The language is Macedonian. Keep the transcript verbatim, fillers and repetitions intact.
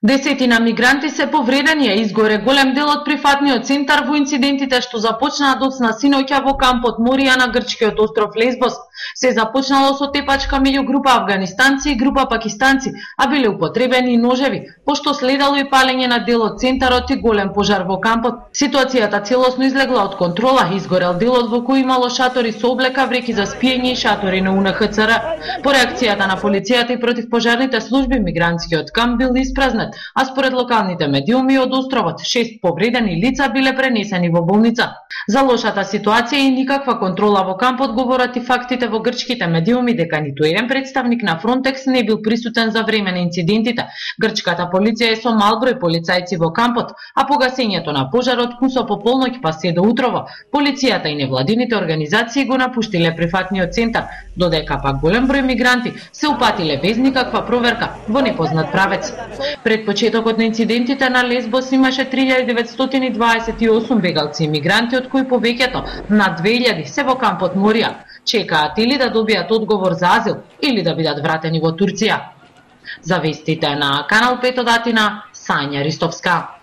Десетина мигранти се повредени, а изгоре голем дел од прифатниот центар во инцидентите што започнаа доцна синоќа во кампот Морија на грчкиот остров Лесбос. Се започнало со тепачка меѓу група афганистанци и група пакистанци, а биле употребени и ножеви, пошто следало и палење на дел од центарот и голем пожар во кампот. Ситуацијата целосно излегла од контрола, изгорел делот во кој имало шатори со облека, вреки за спиење и шатори на У Н Х Ц Р. По реакцијата на полицијата и противпожарните служби, мигрантскиот камп бил испразнет, а според локалните медиуми од островот, шест повредени лица биле пренесени во болница. За лошата ситуација и никаква контрола во кампот говорат и фактите во грчките медиуми дека ниту еден представник на Фронтекс не бил присутен за време на инцидентите. Грчката полиција е со мал број полицајци во кампот, а погасењето на пожарот кусо по полноќ па се до утрово. Полицијата и невладините организации го напуштиле прифатниот центар, додека пак голем број мигранти се упатиле без никаква проверка во непознат правец. Пред почетокот на инцидентите на Лесбос имаше три илјади деветстотини и дваесет и осум бегалци и мигранти, од кои повеќето, над две илјади, се во кампот Морија. Чекаат или да добијат одговор за азил, или да бидат вратени во Турција. За вестите на Канал пет од Атина, Сања Ристовска.